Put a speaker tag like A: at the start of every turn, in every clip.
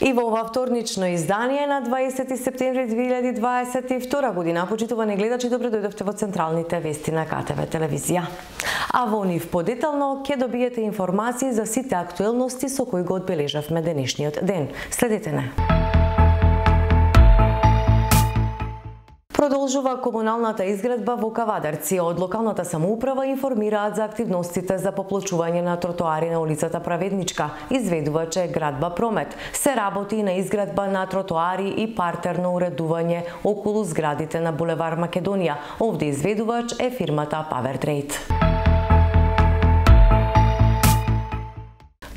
A: И во ова вторнично издание на 20 септември 2022 година, почитувани гледачи, добре дојдовте во централните вести на КТВ телевизија. А во нив подетално ќе добиете информации за сите актуелности со кои го одбележавме денешниот ден. Следете не. Продолжува комуналната изградба во Кавадарци. Од локалната самоуправа информираат за активностите за поплочување на тротоари на улицата Праведничка. Изведувач е Градба Промет. Се работи на изградба на тротоари и партерно уредување околу зградите на булевар Македонија. Овде изведувач е фирмата Powertrade.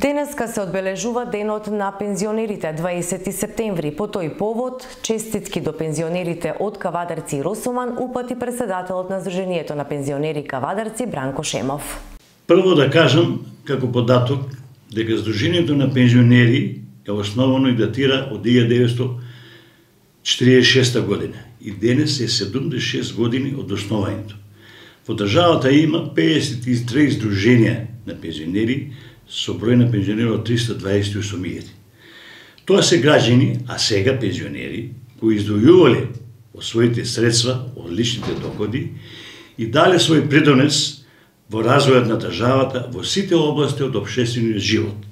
A: Денеска се одбележува денот на пензионерите, 20 септември. По тој повод, честитки до пензионерите од Кавадарци и Росоман упати председателот на Сдруженијето на пензионери Кавадарци Бранко Шемов.
B: Прво да кажам како податок дека Сдруженијето на пензионери е основано и датира од 1946 година и денес е 76 години од основањето. Во државата има 53 сдруженија на пензионери со број на пензионери од 328.000. Тоа се граѓани, а сега пензионери, кои издвојувале од своите средства, од личните доходи и дале свој придонес во развојот на државата во сите области од општествениот живот.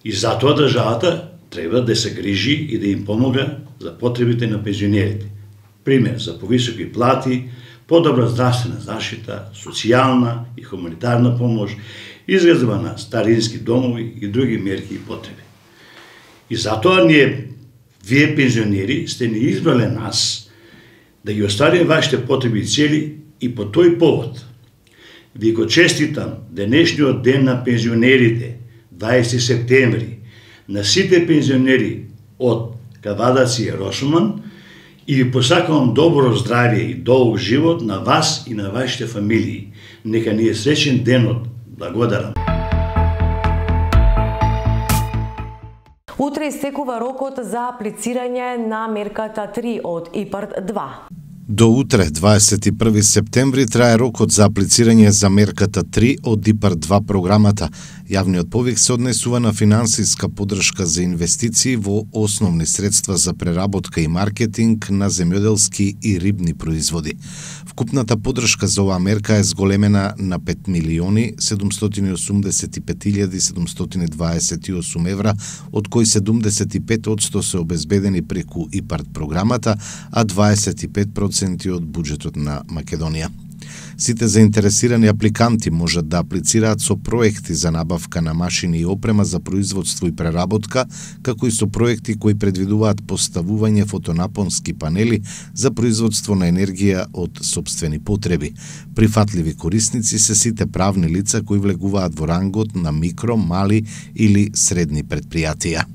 B: И затоа државата треба да се грижи и да им помога за потребите на пензионерите. Пример за повисоки плати, подобра здравствена заштита, социјална и хуманитарна помош, изградба на старински домови и други мерки и потреби. И затоа вие пензионери сте ни избрале нас да ги оствариме вашите потреби и цели и по тој повод. Ви го честитам денешниот ден на пензионерите, 20 септември, на сите пензионери од Кавадарци и Росоман и ви посакувам добро здравје и долг живот на вас и на вашите фамилии. Нека ни е среќен денот. Благодарам.
A: Утре истекува рокот за аплицирање на мерката 3 од ИПАРД 2.
C: До утре, 21 септември, трае рокот за аплицирање за мерката 3 од ИПАРД 2 програмата. Јавниот повик се однесува на финансиска поддршка за инвестиции во основни средства за преработка и маркетинг на земјоделски и рибни производи. Вкупната поддршка за оваа мерка е зголемена на 5.785.728 евра, од кои 75% се обезбедени преку ИПАРД програмата, а 25% од буџетот на Македонија. Сите заинтересирани апликанти можат да аплицираат со проекти за набавка на машини и опрема за производство и преработка, како и со проекти кои предвидуваат поставување фотонапонски панели за производство на енергија од сопствени потреби. Прифатливи корисници се сите правни лица кои влегуваат во рангот на микро, мали или средни предпријатија.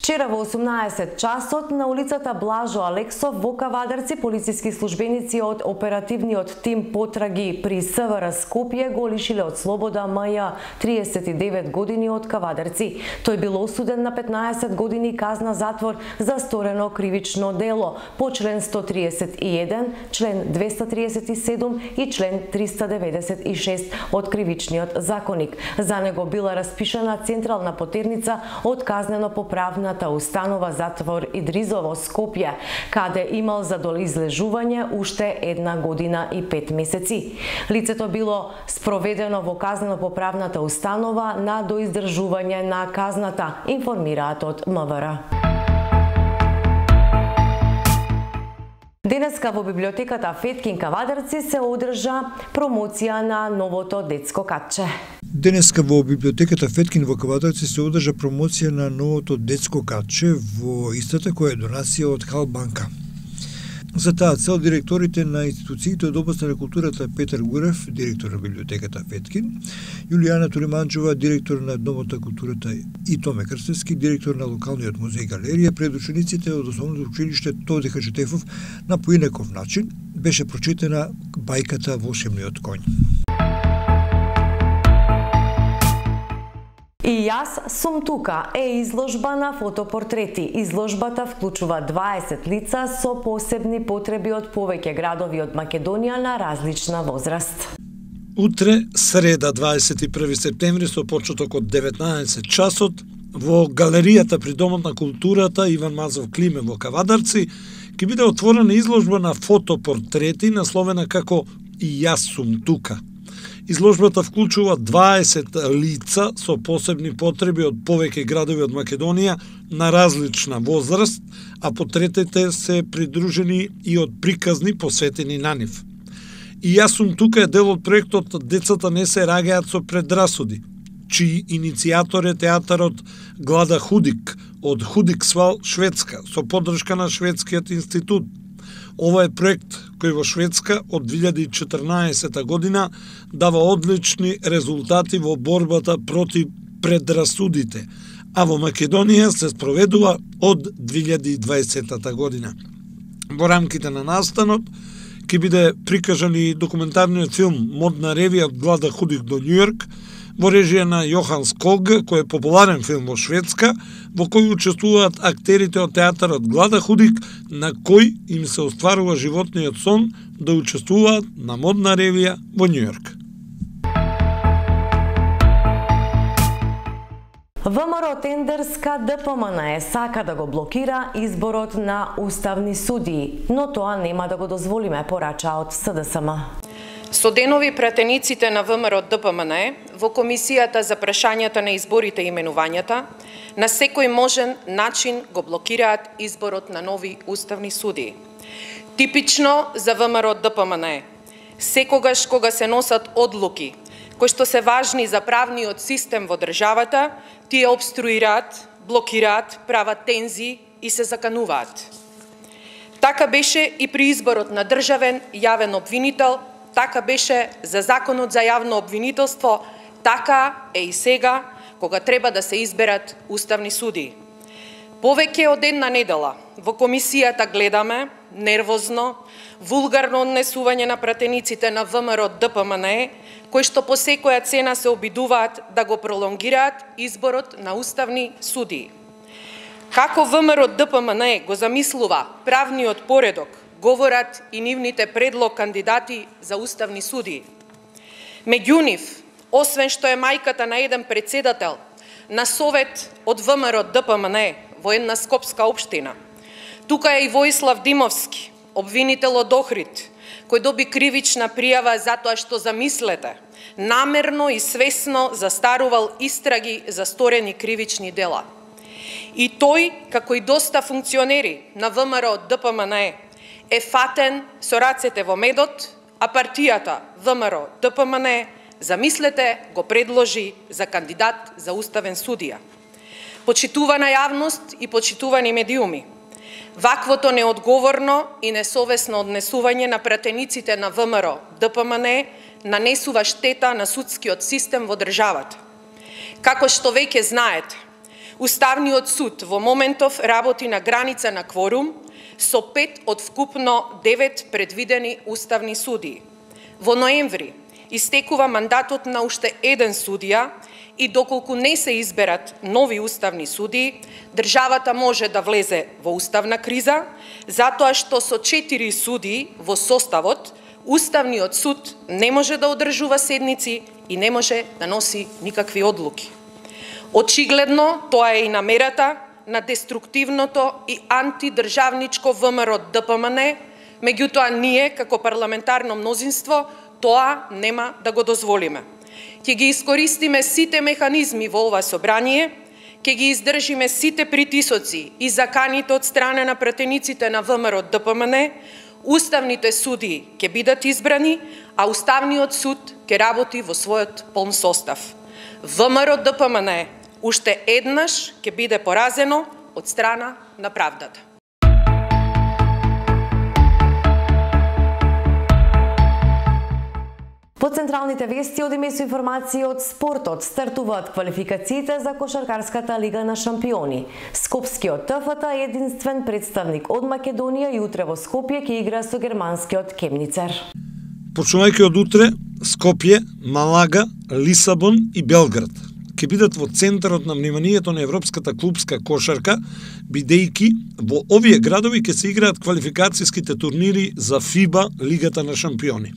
A: Вчера во 18 часот на улицата Блажо Алексов во Кавадарци полициски службеници од оперативниот тим потраги при СВР Скопје го лишиле од слобода М.Ј. 39 години од Кавадарци. Тој бил осуден на 15 години казна затвор за сторено кривично дело по член 131, член 237 и член 396 од Кривичниот законник. За него била распишана централна потерница од казнено-поправната установа затвор Идризово Скопје, каде имал за доизлежување уште 1 година и 5 месеци. Лицето било спроведено во казнено-поправната установа на доиздржување на казната, информираат од МВР. Денеска во библиотеката Феткин Кавадарци се одржа промоција на новото детско катче.
D: Денеска во библиотеката Феткин во Кавадарци се одржа промоција на новото детско катче во истата која е донација од Халбанка. За таа цел директорите на институциите од областа на културата Петар Гурев, директор на библиотеката Феткин, Јулијана Туриманџова, директор на Домот на културата и Томе Крстевски, директор на локалниот музеј галерија, пред учениците од основното училиште Тоде Хаджитефов на поинаков начин беше прочитана бајката Волшебниот коњ.
A: И јас сум тука е изложба на фотопортрети. Изложбата вклучува 20 лица со посебни потреби од повеќе градови од Македонија на различна возраст.
D: Утре, среда, 21 септември, со почеток од 19 часот, во галеријата при Домот на културата Иван Мазов Климе во Кавадарци, ќе биде отворена изложба на фотопортрети насловена како "И јас сум тука". Изложбата вклучува 20 лица со посебни потреби од повеќе градови од Македонија на различна возраст, а портретите се придружени и од приказни посветени на нив. "И јас сум тука" е дел од проектот "Децата не се раѓаат со предрасуди", чиј иницијатор е театарот Глада Худик од Худиксвал, Шведска, со поддршка на Шведскиот институт. Ова е проект кој во Шведска од 2014 година дава одлични резултати во борбата против предрасудите, а во Македонија се спроведува од 2020 година. Во рамките на настанот ќе биде прикажан и документарниот филм "Модна ревија од Глада Худик до Њујорк", во режија на Јохан Ског, кој е популарен филм во Шведска, во кој учествуваат актерите од театарот Глада Худик, на кој им се остварува животниот сон да учествуваат на модна ревија во Њујорк.
A: ВМРО Тендерска ДПМН сака да го блокира изборот на уставни судии, но тоа нема да го дозволиме, порача од СДСМ.
E: Со денови пратениците на ВМРО ДПМН во Комисијата за прашањата на изборите и именувањата на секој можен начин го блокираат изборот на нови уставни судии. Типично за ВМРО ДПМН, секогаш кога се носат одлуки кои што се важни за правниот систем во државата, тие обструираат, блокираат, прават тензии и се закануваат. Така беше и при изборот на државен јавен обвинител, така беше за Законот за јавно обвинителство, така е и сега, кога треба да се изберат уставни судии. Повеќе од една недела во комисијата гледаме нервозно, вулгарно однесување на пратениците на ВМРО ДПМН, кои што по секоја цена се обидуваат да го пролонгираат изборот на уставни судии. Како ВМРО ДПМН го замислува правниот поредок, говорат и нивните предлог кандидати за уставни судии. Меѓу нив, освен што е мајката на еден председател на совет од ВМРО ДПМН во една скопска општина, тука е и Воислав Димовски, обвинител од Охрид, кој доби кривична пријава затоа што, замислете, намерно и свесно застарувал истраги за сторени кривични дела. И тој, како и доста функционери на ВМРО ДПМН, е фатен со рацете во медот, а партијата ВМРО ДПМН, замислете, го предложи за кандидат за уставен судија. Почитувана јавност и почитувани медиуми, ваквото неодговорно и несовесно однесување на пратениците на ВМРО ДПМН нанесува штета на судскиот систем во државата. Како што веќе знаете, Уставниот суд во моментов работи на граница на кворум со 5 од вкупно 9 предвидени уставни судии. Во ноември истекува мандатот на уште еден судија и доколку не се изберат нови уставни судии, државата може да влезе во уставна криза, затоа што со 4 судии во составот, Уставниот суд не може да одржува седници и не може да носи никакви одлуки. Очигледно, тоа е и намерата на деструктивното и антидржавничко ВМРО ДПМН, меѓутоа ние, како парламентарно мнозинство, тоа нема да го дозволиме. Ќе ги искористиме сите механизми во ова собрание, ќе ги издржиме сите притисоци и заканите од страна на пратениците на ВМРО ДПМН, уставните судии ќе бидат избрани, а Уставниот суд ќе работи во својот полн состав. ВМРО ДПМН уште еднаш ќе биде поразено од страна на правдата.
A: По централните вести одиме со информации од спортот. Стартуваат квалификациите за кошаркарската лига на шампиони. Скопскиот ТФТ е единствен представник од Македонија и утре во Скопје ќе игра со германскиот Кемницер.
D: Почнувајќи од утре, Скопје, Малага, Лисабон и Белград ќе бидат во центарот на вниманието на европската клубска кошарка, бидејќи во овие градови ќе се играат квалификацијските турнири за ФИБА Лигата на шампиони.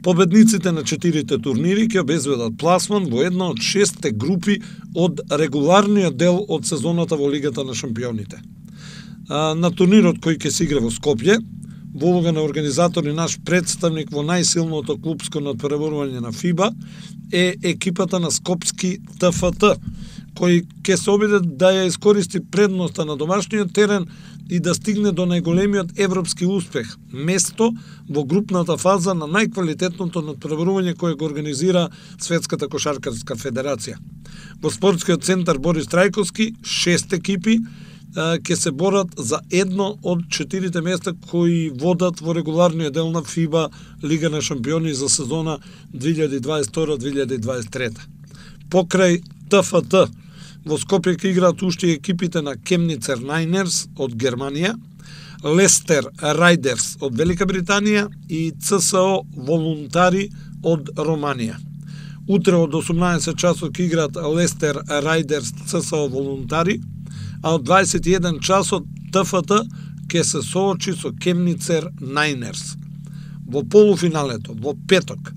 F: Победниците на 4 турнири ќе обезбедат пласман во една од 6 групи од регуларниот дел од сезоната во Лигата на шампионите. На турнирот кој ќе се игра во Скопје, во улога на организатор и наш представник во најсилното клупско надпреварување на ФИБА е екипата на Скопски ТФТ, кој ќе се обиде да ја искористи предноста на домашниот терен и да стигне до најголемиот европски успех, место во групната фаза на најквалитетното надпреварување кое го организира Светската кошаркарска федерација. Во спортскиот центар Борис Трајковски 6 екипи ќе се борат за едно од 4 места кои водат во регуларниот дел на ФИБА Лига на шампиони за сезона 2022-2023. Покрај ТФТ во Скопје ќе играат уште екипите на Кемницер Найнерс од Германија, Лестер Рајдерс од Велика Британија и ЦСО Волунтари од Романија. Утре од 18 часот ќе играат Лестер Рајдерс ЦСО Волунтари, а од 21 часот ТФТ ќе се соочи со Кемницер Найнерс. Во полуфиналето, во петок,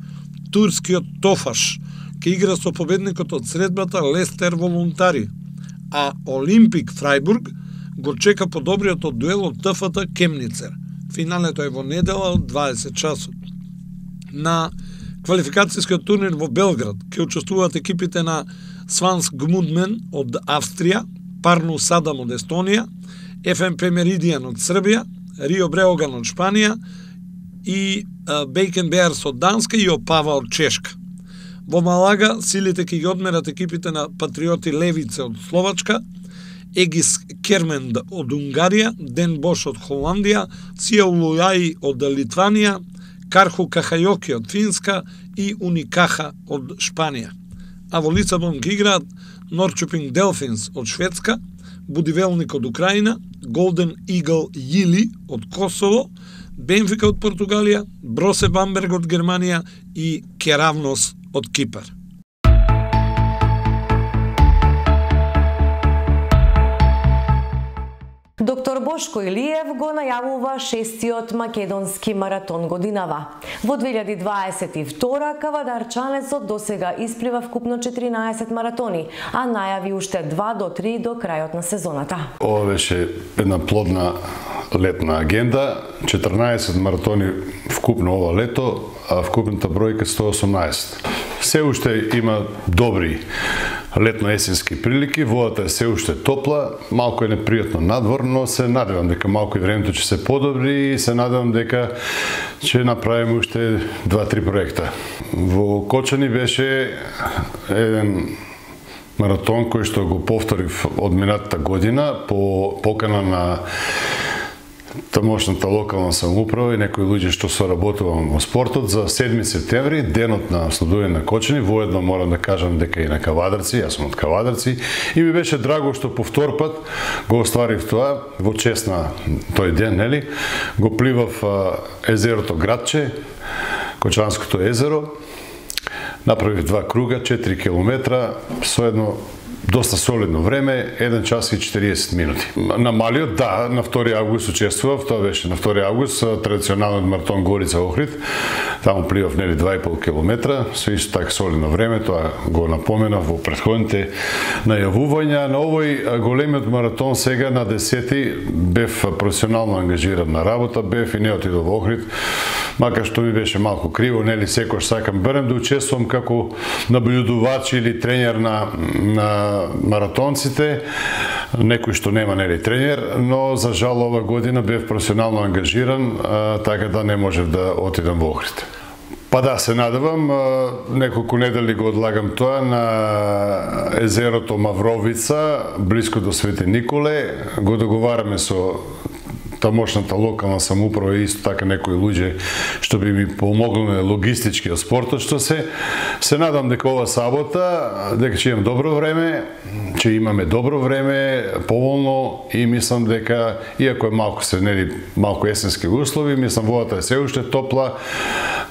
F: турскиот Тофаш ќе игра со победникот од средбата Лестер Волунтари, а Олимпик Фрајбург го чека подобриот од дуел од ТФТ Кемницер. Финалето е во недела од 20 часот. На квалификацијскиот турнир во Белград ќе учествуваат екипите на Сванс Гмудмен од Австрија, Парну Садам од Естонија, ФМП Меридијан од Србија, Рио Бреоган од Шпанија и Бейкен Беарс од Данска и Опава од Чешка. Во Малага силите ќе ги одмерат екипите на Патриоти Левице од Словачка, Егис Керменд од Унгарија, Ден Бош од Холандија, Сиаулујаи од Литванија, Карху Кахајоки од Финска и Уникаха од Шпанија. А во Лисабон ќе играат Норчопинг Делфинс од Шведска, Будивелник од Украина, Голден Игл Јили од Косово, Бенфика од Португалија, Бросе Бамберг од Германија и Керавнос од Кипар.
A: Доктор Бошко Илиев го најавува 6-тиот македонски маратон годинава. Во 2022 кавадарчанецот досега исплива вкупно 14 маратони, а најави уште 2 до 3 до крајот на сезоната.
G: Ова беше една плодна летна агенда, 14 маратони вкупно ова лето, а вкупната бројка 118. Се уште има добри летно-есенски прилики, водата е се уште топла, малку е непријатно надвор, но се надевам дека малку и времето ќе се подобри и се надевам дека ќе направиме уште 2-3 проекта. Во Кочани беше еден маратон кој што го повторив од минатата година по покана на тамошната локална самоуправа и некои луѓе што соработувам во спортот за 7 септември, денот на следување на Кочани. Воедно морам да кажам дека и на Кавадарци, јас сум од Кавадарци, и ми беше драго што по втор пат го остварив тоа во чест на тој ден, нели? Го пливав езерото Градче, Кочанското езеро. Направив 2 круга, 4 километра со едно доста солидно време, 1 час и 40 минути. На малиот, да, на 2 август учествував, тоа беше на 2 август, традиционалниот маратон Горица Охрид. Таму пливав нели 2,5 километра, со исто така солидно време, тоа го напоменав во претходните најавувања. На овој големиот маратон сега на 10-ти бев професионално ангажиран на работа, бев и не отидов во Охрид, макар што ми беше малку криво, нели секојаш сакам барем да учествувам како наблюдувач или тренер на маратонците, некој што нема нели тренер, но за жал ова година бев професионално ангажиран, така да не можев да отидам во Охрид. Па да, се надевам, неколку недели го одлагам тоа на езерото Мавровица, близко до Свети Николе, го договараме со тамошната локална самоуправа и исто така некои луѓе што би ми помогнале логистички од спортот, што се надам дека ова сабота, дека ќе имам добро време, ќе имаме добро време, поволно, и мислам дека, иако е малку се нели малку есенски услови, мислам водата е се уште топла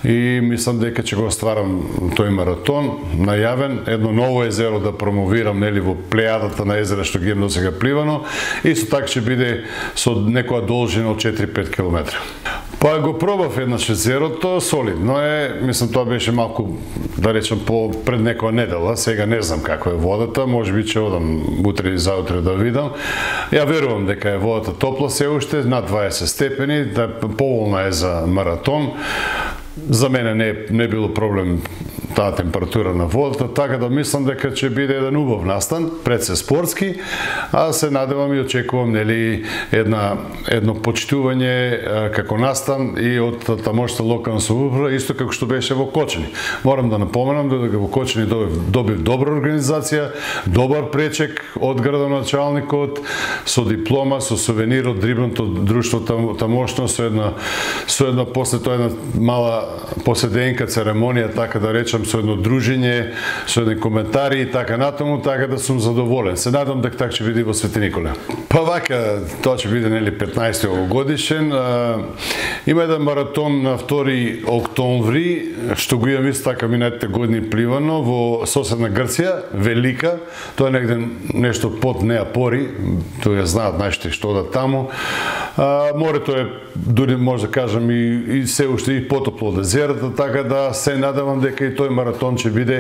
G: и мислам дека ќе го остварам тој маратон најавен, едно ново езеро да промовирам нели во плејадата на езера што ги имам досега пливано, исто така ќе биде со некоја должина од 4-5 км. Па го пробав еднаш езерото, солидно е, мислам тоа беше малку, да речем, пред некоја недела, сега не знам каква е водата, можеби ќе одам утре и заутре да видам. Ја верувам дека е водата топла се уште, над 20 степени, да поволна е за маратон. За мене не било проблем таа температура на водата, така да мислам дека ќе биде еден убав настан, пред се спортски, а се надевам и очекувам нели едно почитување како настан и од тамошната локална самоуправа, исто како што беше во Кочани. Морам да напоменам дека во Кочани добив добра организација, добар пречек од градоначалникот, со диплома, со сувенир од Дрибното друштво тамошно, со една после тоа една мала поседенка, церемонија, така да речам, со едно дружење, со едни коментари и така натаму, така да сум задоволен. Се надам дека така ќе биде во Свети Николе. Па вака, тоа ќе биде нели 15 овогодишен. Има еден маратон на 2 октомври, што го имам исто така минатите години пливано во соседна Грција, Велика. Тоа е негде нешто под Неапори, тоа ја знаат нашите што одат таму. Морето е, дури може да кажам, и се уште и потопло од езерата, така да се надевам дека и тој маратон ќе биде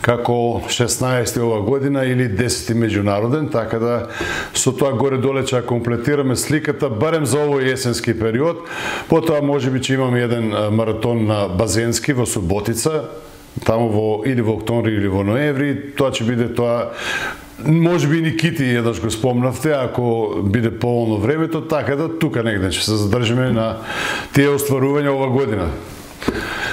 G: како 16 ова година или 10 меѓународен, така да со тоа горе-доле ќе комплетираме сликата, барем за овој есенски период. Потоа можеби ќе имаме еден маратон на Базенски во Суботица, таму или во октомври или во ноември. Тоа ќе биде тоа. Може би Никити еднаш го спомнавте, ако биде поволно времето, така да тука негде ќе се задржиме на тие остварувања ова година.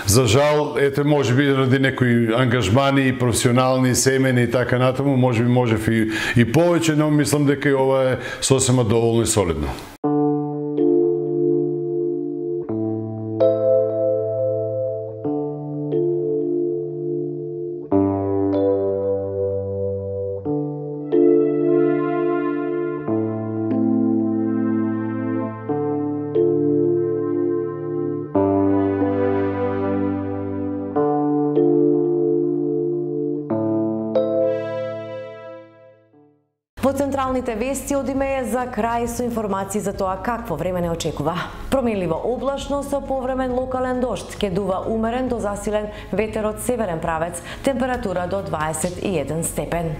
G: За жал, ете, може би ради некои ангажмани, професионални, семени и така натаму, може би можев и повеќе, но мислам дека и ова е сосема доволно и солидно.
A: Во централните вести одиме за крај со информации за тоа какво време не очекува. Променливо облачно со повремен локален дожд, ќе дува умерен до засилен ветер од северен правец, температура до 21 степен.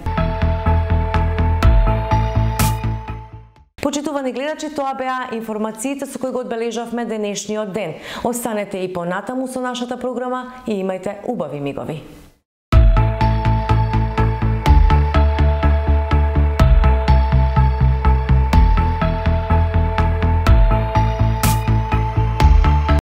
A: Почитувани гледачи, тоа беа информациите со кои го одбележавме денешниот ден. Останете и понатаму со нашата програма и имајте убави мигови.